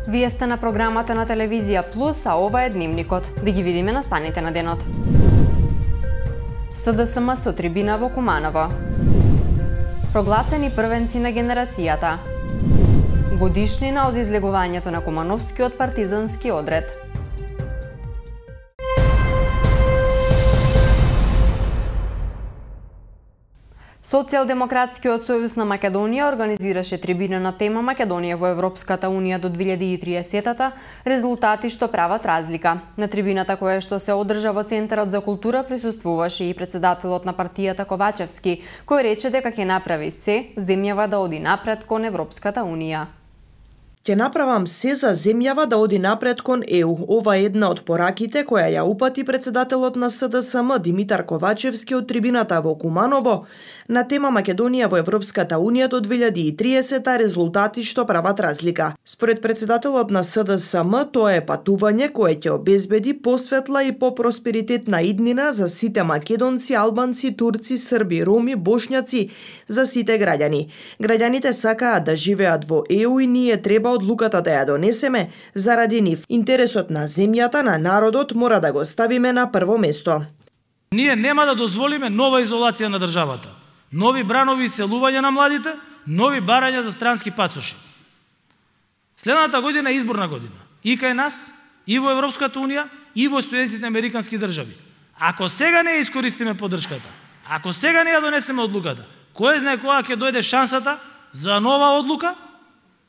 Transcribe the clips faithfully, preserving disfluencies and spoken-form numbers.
Вие сте на програмата на Телевизија Плюс, а ова е Дневникот. Да ги видиме настаните на денот. СДСМ со трибина во Куманово. Прогласени првенци на генерацијата. Годишнина од излегувањето на Кумановскиот партизански одред. Социјалдемократскиот сојуз на Македонија организираше трибина на тема Македонија во Европската унија до две илјади и триесета, резултати што прават разлика. На трибината која што се одржа во Центарот за култура присуствуваше и председателот на партијата Ковачевски, кој рече дека ќе направи се земјава да оди напред кон Европската унија. Ќе направам се за земјава да оди напред кон Е У. Ова е една од пораките која ја упати председателот на СДСМ Димитар Ковачевски од трибината во Куманово на тема Македонија во Европската унија до две илјади и триесета, резултати што прават разлика. Според председателот на СДСМ, тоа е патување кое ќе обезбеди посветла и попросперитетна иднина за сите македонци, албанци, турци, срби, роми, бошњаци, за сите граѓани. Граѓаните сакаат да живеат во Е У и ние треба одлуката да ја донесеме заради нив. Интересот на земјата, на народот мора да го ставиме на прво место. Ние нема да дозволиме нова изолација на државата. Нови бранови селувања на младите, нови барања за странски пасоши. Следната година е изборна година. И кај нас, и во Европската унија, и во Соединетите американски држави. Ако сега не искористиме поддршката, ако сега не ја донесеме одлуката, кој знае кога ќе дојде шансата за нова одлука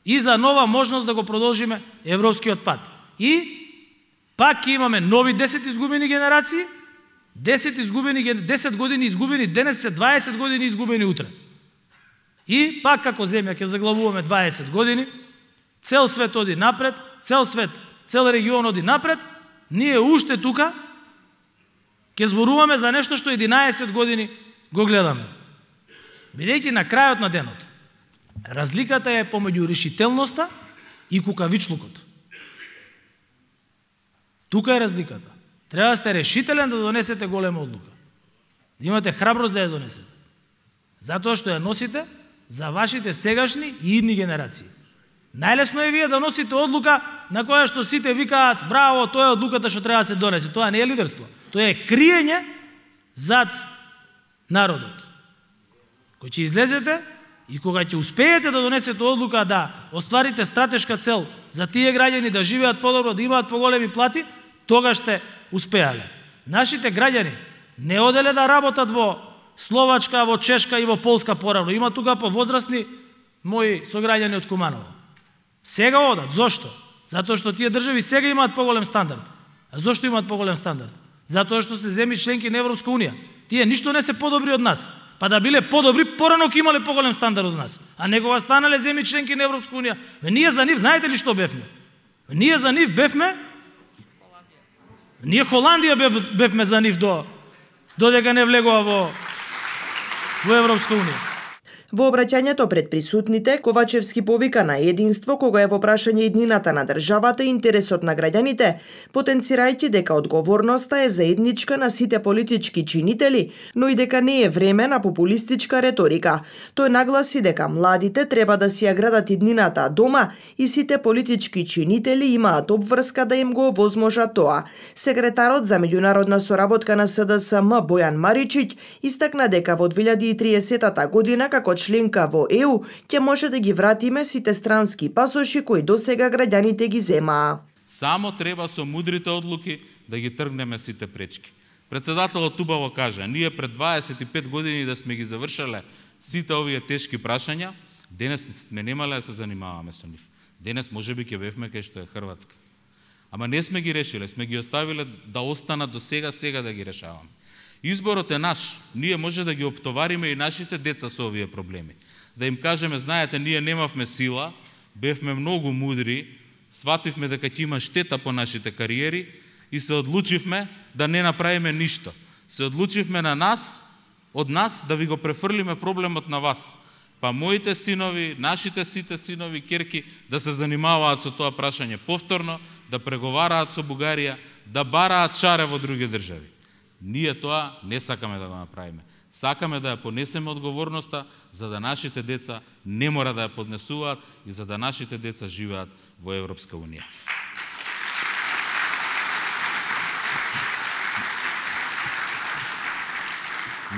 и за нова можност да го продолжиме европскиот пат. И пак ќе имаме нови десет изгубени генерации, десет изгубени десет години изгубени денес, се дваесет години изгубени утре. И пак како земја ќе заглавуваме дваесет години, цел свет оди напред, цел свет, цел регион оди напред, ние уште тука ќе зборуваме за нешто што единаесет години го гледаме. Бидејќи на крајот на денот, разликата е помеѓу решителноста и кукавичлукот. Тука е разликата. Треба да сте решителен да донесете голема одлука. Да имате храброст да ја донесете. Затоа што ја носите за вашите сегашни и идни генерации. Најлесно е вие да носите одлука на која што сите викаат браво, тоа е одлуката што треба да се донесе. Тоа не е лидерство. Тоа е криење зад народот. Кој ќе излезете и кога ќе успеете да донесете одлука да остварите стратешка цел за тие граѓани да живеат подобро, да имаат поголеми плати, тогаш сте успеале. Нашите граѓани не оделе да работат во Словачка, во Чешка и во Полска поравно. Има тука повозрасни мои сограѓани од Куманово. Сега одат. Зошто? Затоа што тие држави сега имаат поголем стандард. А зошто имаат поголем стандард? Затоа што се земји членки на Европска унија. Тие ништо не се подобри од нас. Па да биле подобри, порано ќе имале поголем стандард од нас. А некога станале земји членки на Европска унија. Ние за нив, знаете ли што бевме? Ние за нив бевме Ние Холандија бев, бевме за нив до додека не влегува во во Европска унија. Во обраќањето пред присутните, Ковачевски повика на единство кога е во прашање иднината на државата и интересот на граѓаните, потенцирајќи дека одговорноста е заедничка на сите политички чинители, но и дека не е време на популистичка реторика. Тој нагласи дека младите треба да си ја градат иднината дома и сите политички чинители имаат обврска да им го овозможат тоа. Секретарот за меѓународна соработка на СДСМ Бојан Маричиќ истакна дека во две илјади и триесета година како членка во Е У ќе може да ги вратиме сите странски пасоши кои досега граѓаните ги земаа. Само треба со мудрите одлуки да ги тргнеме сите пречки. Председателот убаво кажа, ние пред дваесет и пет години да сме ги завршале сите овие тешки прашања, денес сме немале да се занимаваме со нив. Денес можеби ќе бевме кај што е Хрватска. Ама не сме ги решиле, сме ги оставиле да останат до сега, сега да ги решаваме. Изборот е наш. Ние може да ги оптовариме и нашите деца со овие проблеми. Да им кажеме, знаете, ние немавме сила, бевме многу мудри, свативме дека ќе има штета по нашите кариери и се одлучивме да не направиме ништо. Се одлучивме на нас, од нас, да ви го префрлиме проблемот на вас. Па моите синови, нашите сите синови, керки, да се занимаваат со тоа прашање повторно, да преговараат со Бугарија, да бараат шаре во други држави. Ние тоа не сакаме да го направиме. Сакаме да ја понесеме одговорноста за да нашите деца не мора да ја поднесуваат и за да нашите деца живеат во Европска унија.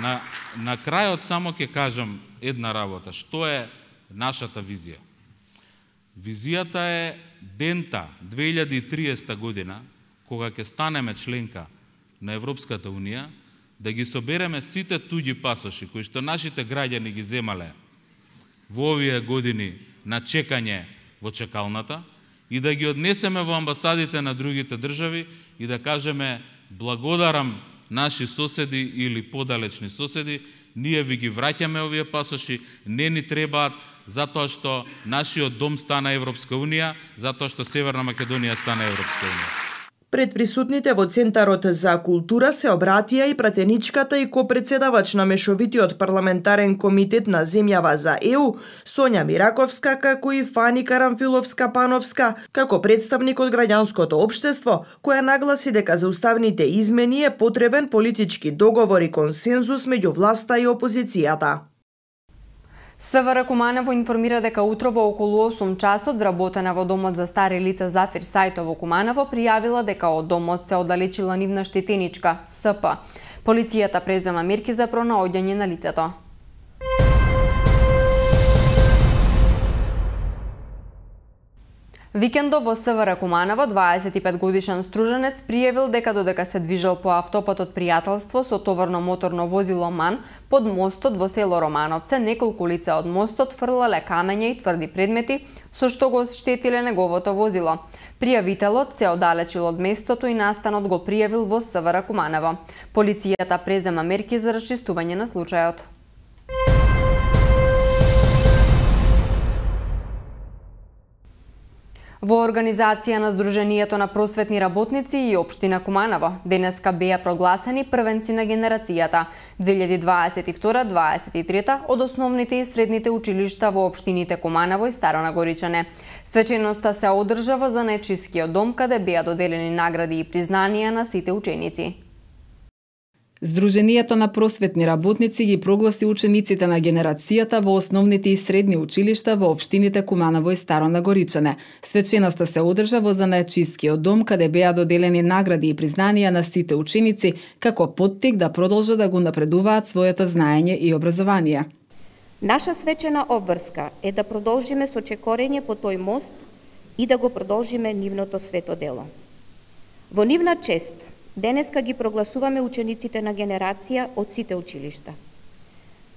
На, на крајот само ќе кажам една работа. Што е нашата визија? Визијата е дента две илјади и триесета година, кога ќе станеме членка на Европската унија, да ги собереме сите туѓи пасоши кои што нашите граѓани ги земале во овие години на чекање во чекалната и да ги однесеме во амбасадите на другите држави и да кажеме благодарам наши соседи или подалечни соседи, ние ви ги враќаме овие пасоши, не ни требаат затоа што нашиот дом стана Европска унија, затоа што Северна Македонија стана Европска унија. Пред присутните во Центарот за култура се обратија и пратеничката и копредседавач на Мешовитиот парламентарен комитет на земјава за Е У, Сонја Мираковска, како и Фани Карамфиловска-Пановска, како представник од граѓанското општество, која нагласи дека за уставните измени е потребен политички договор и консензус меѓу власта и опозицијата. СВР Куманово информира дека утро во околу осум часот вработена во домот за стари лица Зафир Сајто во Куманово пријавила дека од домот се оддалечила нивна штетеничка С П. Полицијата презема мерки за пронаоѓање на лицето. Викендов во СВР Куманово дваесет и пет годишен струженец пријавил дека додека се движел по автопатот Пријателство со товарно моторно возило МАН под мостот во село Романовце, неколку лица од мостот фрлале камења и тврди предмети со што го оштетиле неговото возило. Пријавителот се оддалечил од местото и настанот го пријавил во СВР Куманово. Полицијата презема мерки за расчистување на случајот. Во организација на Сдруженијето на просветни работници и Општина Куманово денеска беа прогласени првенци на генерацијата две илјади дваесет и втора - дваесет и трета од основните и средните училишта во општините Куманово и Старо Нагоричане. Свеченоста се одржа во Занечискиот дом, каде беа доделени награди и признанија на сите ученици. Сдруженијето на просветни работници ги прогласи учениците на генерацијата во основните и средни училишта во општините Куманово и Старо Нагоричане. Свеченоста се одржа во Занаечискиот дом, каде беа доделени награди и признанија на сите ученици, како поттик да продолжат да го напредуваат своето знаење и образование. Наша свечена обврска е да продолжиме со чекорење по тој мост и да го продолжиме нивното свето дело. Во нивна чест, денеска ги прогласуваме учениците на генерација од сите училишта.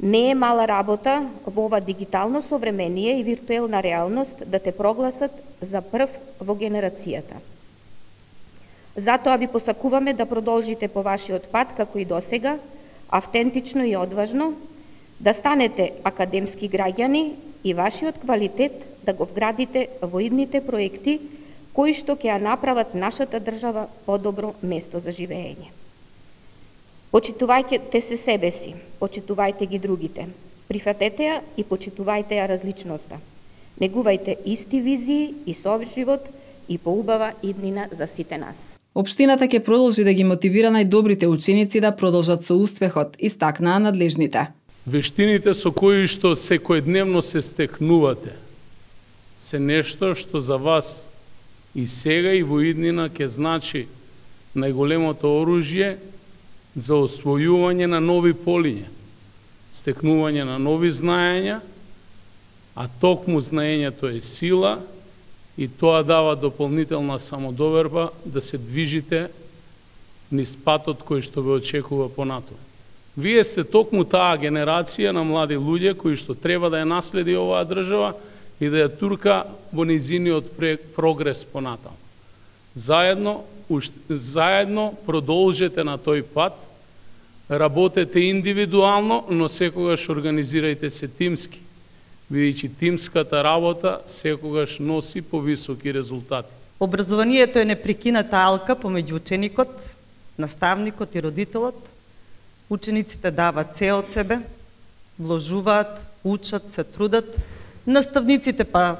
Не е мала работа во ова дигитално современие и виртуелна реалност да те прогласат за прв во генерацијата. Затоа ви посакуваме да продолжите по вашиот пат како и досега, автентично и одважно, да станете академски граѓани и вашиот квалитет да го вградите во идните проекти кои што ќе ја направат нашата држава подобро место за живење. Почитувајте се себе си, почитувајте ги другите, прифатете ја и почитувајте ја различноста. Негувајте исти визии и совживот и поубава иднина за сите нас. Општината ќе продолжи да ги мотивира најдобрите ученици да продолжат со успехот, истакнаа надлежните. Вештините со кои што секојдневно се стекнувате се нешто што за вас и сега и во иднина ќе значи најголемото оружје за освојување на нови полиња, стекнување на нови знаења, а токму знаењето е сила и тоа дава дополнителна самодоверба да се движите низ патот кој што ве очекува понатаму. Вие сте токму таа генерација на млади луѓе кои што треба да ја наследи оваа држава и да ја турка во низиниот прогрес понатаму. Заедно, заедно продолжете на тој пат, работете индивидуално, но секогаш организирајте се тимски, бидејќи тимската работа секогаш носи повисоки резултати. Образованието е непрекината алка помеѓу ученикот, наставникот и родителот. Учениците дават се од себе, вложуваат, учат, се трудат. Наставниците па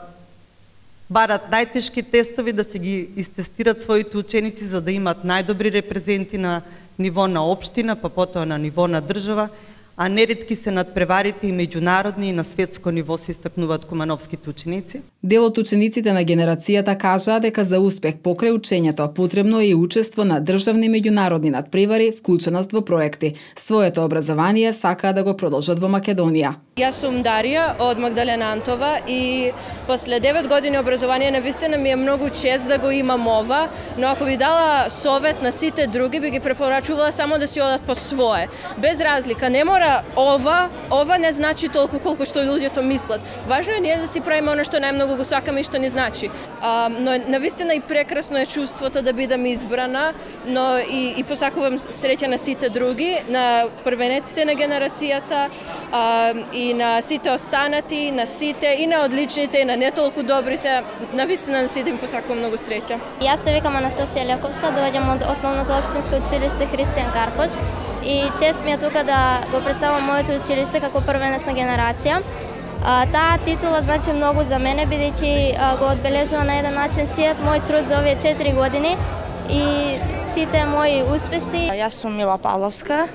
барат најтешки тестови да се ги истестират своите ученици за да имат најдобри репрезенти на ниво на општина, па потоа на ниво на држава, а неретки се надпреварите и меѓународни и на светско ниво се истакнуваат кумановските ученици. Дел од учениците на генерацијата кажаа дека за успех покрај учењето потребно е и учество на државни и меѓународни надпревари, вклученост во проекти. Своето образование сакаа да го продолжат во Македонија. Јас сум Дарија од Магдалена Антова и после девет години образование навистина ми е многу чест да го имам ова, но ако би дала совет на сите други, би ги препорачувала само да си одат по свое. Без разлика, не мора ова, ова не значи толку колку што луѓето мислат. Важно е ние да си правиме оно што најмногу го сакаме и што ни значи. А, но навистина и прекрасно е чувството да бидам избрана, но и, и посакувам среќа на сите други, на првенеците на генерацијата, а, и на сите останати, на сите, и на одличните, и на не толку добрите. Навистина на сите им посакувам многу среќа. Јас се викам Анастасија Лековска, доаѓам од Основното општинско училиште Христијан Карпош и чест ми е тука да го представам моето училиште како првенец на генерација. А, таа титула значи многу за мене, бидејќи го одбележува на еден начин сиот мој труд за овие четири години и сите мои успеси. Јас сум Мила Павловска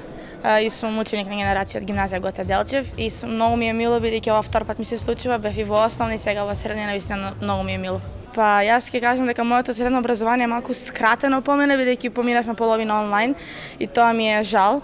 и сум ученик на генерација од гимназија Гоце Делчев и сум, многу ми е мило бидејќи ова втор пат ми се случува, бев и во основна и сега во средна, навистина многу ми е мило. Па јас ќе кажам дека моето средно образование е малку скратено по мене, бидејќи поминавме половина онлайн и тоа ми е жал.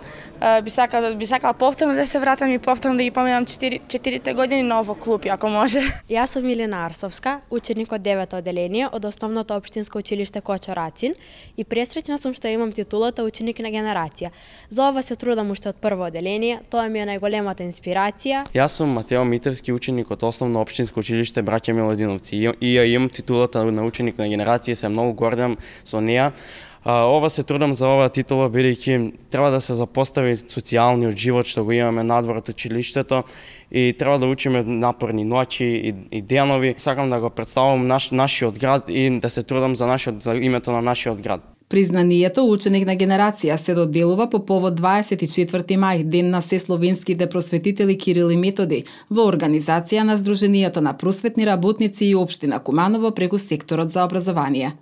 Би сакала, би сакала повторно да се вратам и повторно да ги поминам четирите години, но во клуб, ако може. Јас сум Милена Арсовска, ученик од девето оделение од Основното општинско училиште Кочо Рацин и пресреќна сум што имам титулата ученик на генерација. За ова се трудам уште од прво оделение, тоа ми е најголемата инспирација. Јас сум Матео Митевски, ученик од Основно општинско училиште Браќа Милодиновци и ја имам титулата на ученик на генерација, се многу гордам со неа. Ова се трудам за оваа титула, бидејќи треба да се запостави социјалниот живот што го имаме надвор од училиштето и треба да учиме напорни ноќи и, и денови. Сакам да го представам наш, нашиот град и да се трудам за, нашиот, за името на нашиот град. Признанието ученик на генерација се доделува по повод дваесет и четврти мај, ден на сесловенските просветители Кирил и Методи, во организација на Сдруженијето на просветни работници и општина Куманово преку секторот за образование.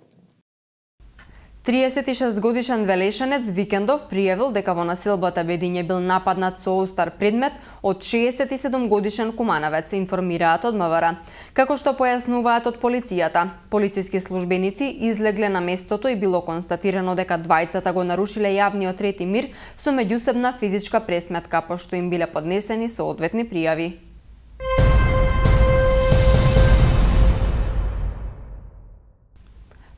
триесет и шест годишен Велешанец Викендов пријавил дека во населбата Бедиње бил нападнат со остар предмет од шеесет и седум годишен кумановец, информираат од МВР. Како што појаснуваат од полицијата, полициски службеници излегле на местото и било констатирано дека двајцата го нарушиле јавниот ред и мир со меѓусебна физичка пресметка, пошто им биле поднесени соодветни пријави.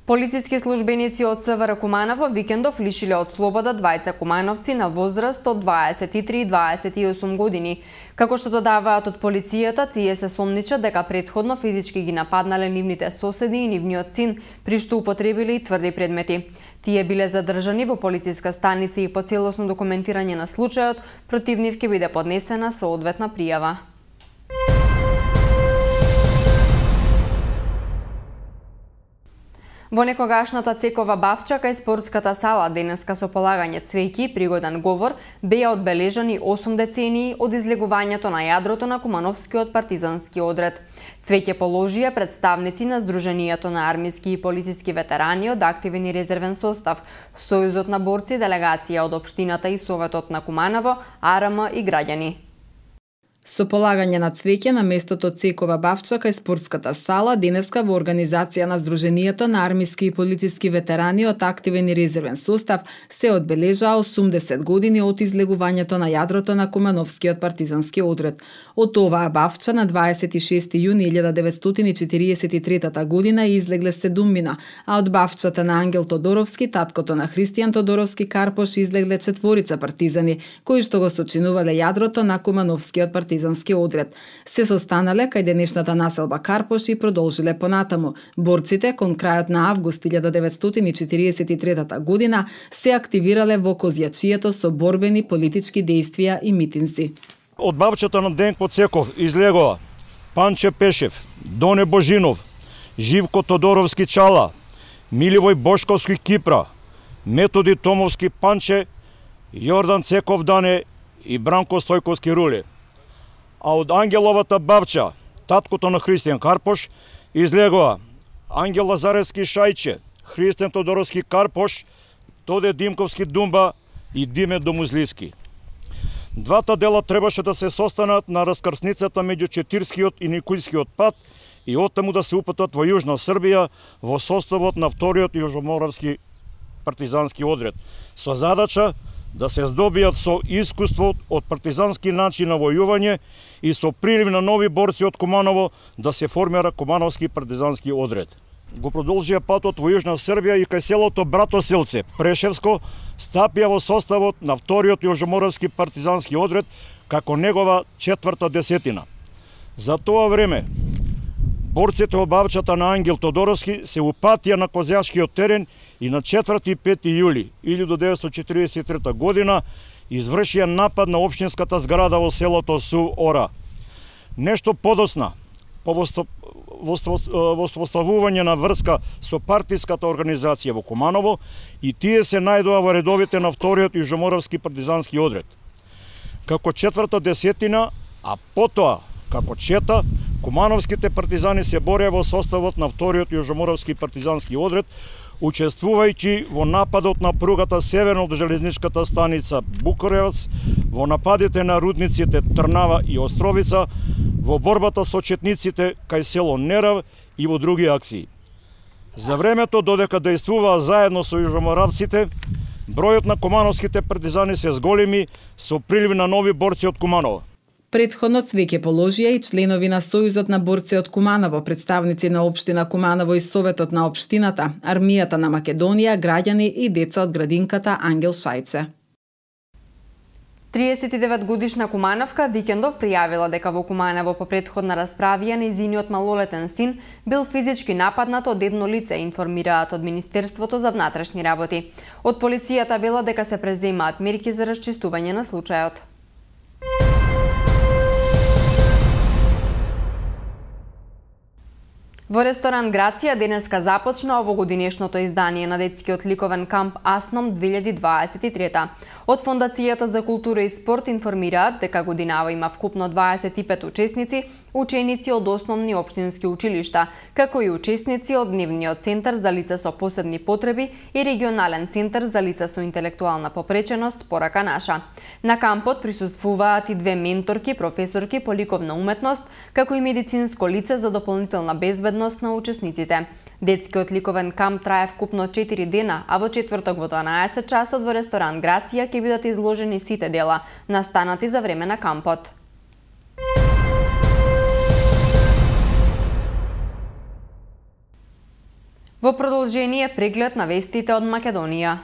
Полициски службеници од СВР Куманово Викендов лишиле од слобода двајца кумановци на возраст од дваесет и три и дваесет и осум години. Како што додаваат од полицијата, тие се сомничат дека претходно физички ги нападнале нивните соседи и нивниот син, при што употребиле и тврди предмети. Тие биле задржани во полициска станица и по целосно документирање на случајот, против нив ќе биде поднесена соодветна пријава. Во некогашната цекова Бавча кај спортската сала денеска со полагање цвеќи и пригоден говор беа одбележани осум децении од излегувањето на јадрото на Кумановскиот партизански одред. Цвеќе положија представници на Сдруженијето на армиски и полициски ветерани од активен и резервен состав, Сојузот на борци, делегација од општината и Советот на Куманово, А Р М и граѓани. Со полагање на цвеќе на местото Цекова Бавча кај спортската сала денеска во организација на Сдруженијето на армиски и полициски ветерани од активен и резервен состав се одбележаа осумдесет години од излегувањето на јадрото на Кумановскиот партизански одред. Од оваа Бавча на дваесет и шести јуни илјада деветстотини четиридесет и трета година излегле седумина, а од Бавчата на Ангел Тодоровски, таткото на Христијан Тодоровски Карпош, излегле четворица партизани, кои што го сочинувале јадрото на Кумановскиот партизански партизански одред. Се состанале кај денешната населба Карпош и продолжиле понатаму. Борците кон крајот на август илјада деветстотини четиридесет и трета година се активирале во Козјачието со борбени политички дејствија и митинзи. Од Бавчата на Денко Цеков излегоа Панче Пешев, Доне Божинов, Живко Тодоровски Чала, Миливој Бошковски Кипра, Методи Томовски Панче, Јордан Цеков Дане и Бранко Стојковски Рули. А од Ангеловата Бавча, таткото на Христијан Карпош, излегоа Ангел Лазаревски Шајче, Христијан Тодоровски Карпош, Тоде Димковски Думба и Диме Домузливски. Двата дела требаше да се состанат на раскрсницата меѓу Четирскиот и Никојскиот пат и оттаму да се упатат во Јужна Србија во составот на вториот Јужноморавски партизански одред, со задача да се здобијат со искуство од партизански начин на војување и со прилив на нови борци од Куманово да се формира Кумановски партизански одред. Го продолжија патот во Јужна Србија и кај селото Братоселце, Прешевско, стапија во составот на вториот Јужноморавски партизански одред како негова четврта десетина. За тоа време, борците од бавчата на Ангел Тодоровски се упатија на Козјачкиот терен и на четврти и пети јули илјадесетстотини четиридесет и трета година извршија напад на општинската зграда во селото Су Ора. Нешто подосна, по воспоставување на врска со партиската организација во Куманово и тие се најдоа во редовите на вториот Јужноморавски партизански одред. Како четврта десетина, а потоа како чета, кумановските партизани се бореа во составот на вториот Јужноморавски партизански одред, учествувајќи во нападот на пругата северно од железничката станица Букуревац, во нападите на рудниците Трнава и Островица, во борбата со четниците кај село Нерав и во други акции. За времето додека дејствуваа заедно со јужноморавците, бројот на кумановските партизани се зголеми со прилив на нови борци од Куманово. Претходно цвеќе положија и членови на Сојузот на борци од Куманово, представници на општина Куманово и Советот на општината, Армијата на Македонија, граѓани и деца од градинката Ангел Шајче. триесет и девет годишна Кумановка викендов пријавила дека во Куманово по претходна расправија нејзиниот малолетен син бил физички нападнат од едно лице, информираат од Министерството за внатрешни работи. Од полицијата вела дека се преземаат мерки за расчистување на случајот. Во ресторан Грација денеска започна овогодинешното издание на детскиот ликовен камп Асном две илјади дваесет и трета. Од Фондацијата за култура и спорт информираат дека годинава има вкупно дваесет и пет учесници, ученици од основни општински училишта, како и учесници од Дневниот центар за лица со посебни потреби и Регионален центар за лица со интелектуална попреченост Порака наша. На кампот присуствуваат и две менторки, професорки по ликовна уметност, како и медицинско лице за дополнителна безбедност на учесниците. Детскиот ликовен камп трае вкупно четири дена, а во четврток во дванаесет часот во ресторан Грација ќе бидат изложени сите дела, настанати за време на кампот. Во продолжение преглед на вестите од Македонија.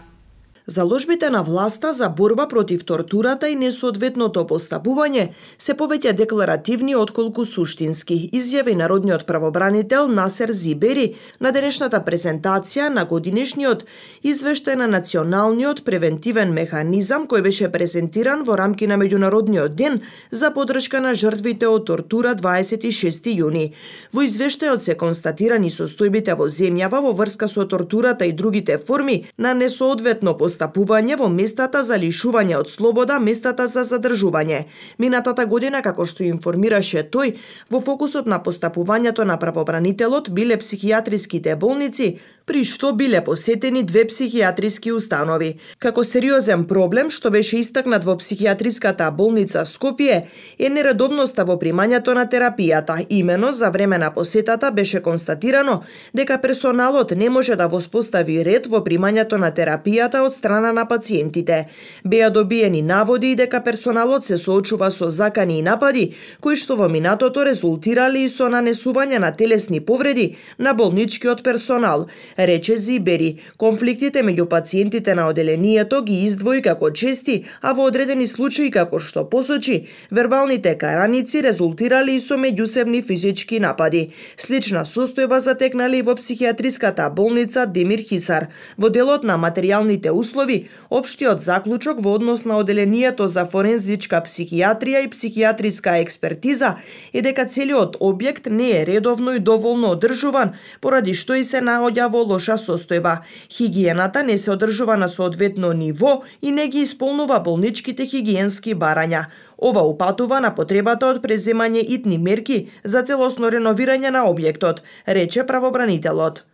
Заложбите на власта за борба против тортурата и несоодветното постапување се повеќе декларативни отколку суштински, изјави народниот правобранител Насер Зибери на денешната презентација на годинешниот извештај на Националниот превентивен механизам кој беше презентиран во рамки на Меѓународниот ден за поддршка на жртвите од тортура дваесет и шести јуни. Во извештајот се констатирани состојбите во земјава во врска со тортурата и другите форми на несоодветно постапување постапување во местата за лишување од слобода, местата за задржување. Минатата година, како што информираше тој, во фокусот на постапувањето на правобранителот биле психијатриските болници, при што биле посетени две психијатриски установи. Како сериозен проблем што беше истакнат во психијатриската болница Скопје е нередовноста во примањето на терапијата. Имено за време на посетата беше констатирано дека персоналот не може да воспостави ред во примањето на терапијата од страна на пациентите. Беа добиени наводи и дека персоналот се соочува со закани и напади, кои што во минатото резултирали и со нанесување на телесни повреди на болничкиот персонал. Рече Зибери, конфликтите меѓу пациентите на оделението ги издвои како чести, а во одредени случаи, како што посочи, вербалните караници резултирали и со меѓусебни физички напади. Слична состојба затекнали и во психијатриската болница Демир Хисар. Во делот на материјалните услови, општиот заклучок во однос на оделението за форензичка психијатрија и психијатриска експертиза е дека целиот објект не е редовно и доволно одржуван, поради што и се наоѓа во лоша состојба. Хигиената не се одржува на соодветно ниво и не ги исполнува болничките хигиенски барања. Ова упатува на потребата од преземање итни мерки за целосно реновирање на објектот, рече правобранителот.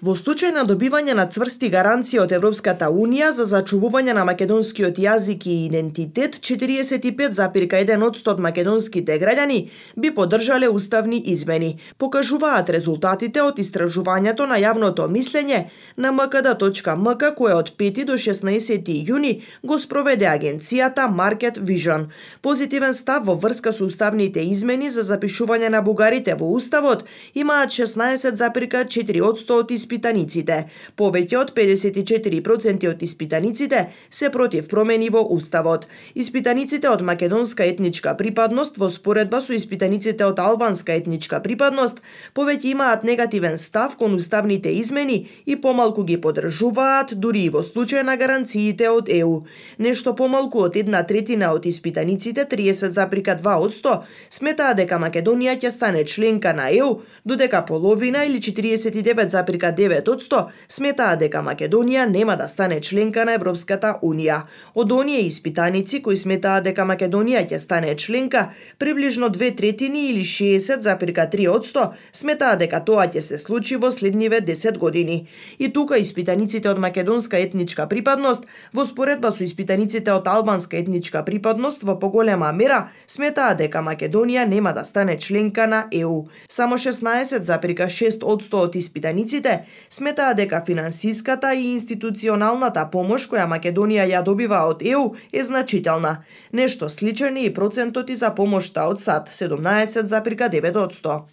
Во случај на добивање на цврсти гаранции од Европската Унија за зачувување на македонскиот јазик и идентитет, четириесет и пет зарез еден одсто од македонските граѓани би поддржале уставни измени, покажуваат резултатите од истражувањето на јавното мислење на ем ка да точка ем ка кое од пети до шеснаесети јуни го спроведе агенцијата Market Vision. Позитивен став во врска со уставните измени за запишување на бугарите во уставот имаат шеснаесет зарез четири одсто од испитаниците. Повеќе од педесет и четири проценти од испитаниците се против промени во уставот. Испитаниците од македонска етничка припадност во споредба со испитаниците од албанска етничка припадност повеќе имаат негативен став кон уставните измени и помалку ги поддржуваат дури и во случај на гаранциите од е у. Нешто помалку од една третина од испитаниците, триесет зарез два одсто, сметаат дека Македонија ќе стане членка на е у, додека половина или четириесет и девет зарез девет одсто сметаат дека Македонија нема да стане членка на Европската Унија. Од оние испитаници кои сметаат дека Македонија ќе стане членка, приближно две третини или шеесет зарез три одсто сметаат дека тоа ќе се случи во следниве десет години. И тука испитаниците од македонска етничка припадност во споредба со испитаниците од албанска етничка припадност во поголема мера сметаат дека Македонија нема да стане членка на е у. Само шеснаесет зарез шест одсто од испитаниците сметаат дека финансиската и институционалната помош која Македонија ја добива од е у е значителна. Нешто сличен е и процентот и за помошта од САД, седумнаесет зарез девет одсто.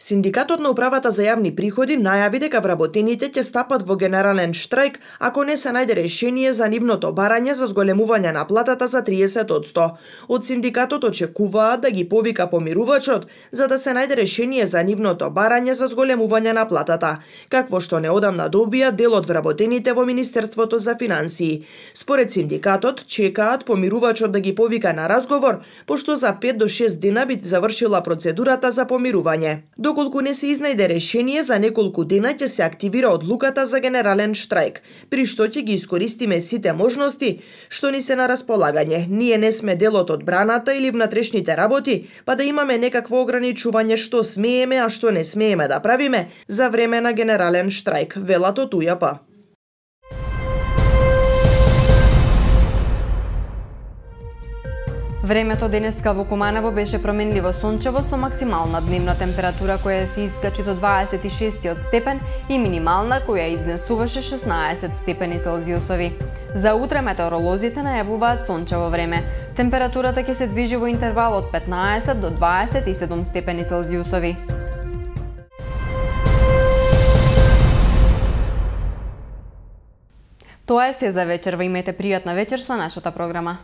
Синдикатот на управата за јавни приходи најави дека вработените ќе стапат во генерален штрајк ако не се најде решение за нивното барање за зголемување на платата за триесет одсто. Од синдикатот очекуваат да ги повика помирувачот за да се најде решение за нивното барање за зголемување на платата, какво што неодамна добија дел од вработените во Министерството за финансии. Според синдикатот чекаат помирувачот да ги повика на разговор, пошто за пет до шест дена би завршила процедурата за помирување. Доколку не се изнајде решение, за неколку дена ќе се активира одлуката за генерален штрајк, при што ќе ги искористиме сите можности што ни се на располагање. Ние не сме дел од одбраната или внатрешните работи, па да имаме некакво ограничување што смееме, а што не смееме да правиме за време на генерален штрајк, велат од у ја пе. Времето денеска во Куманово беше променливо сончево со максимална дневна температура која се искачи до дваесет и шест степен и минимална која изнесуваше шеснаесет степени Целзиусови. За утре метеоролозите најавуваат сончево време. Температурата ќе се движи во интервал од петнаесет до дваесет и седум степени Целзиусови. Тоа е се за вечерва. Имете пријатна вечер со нашата програма.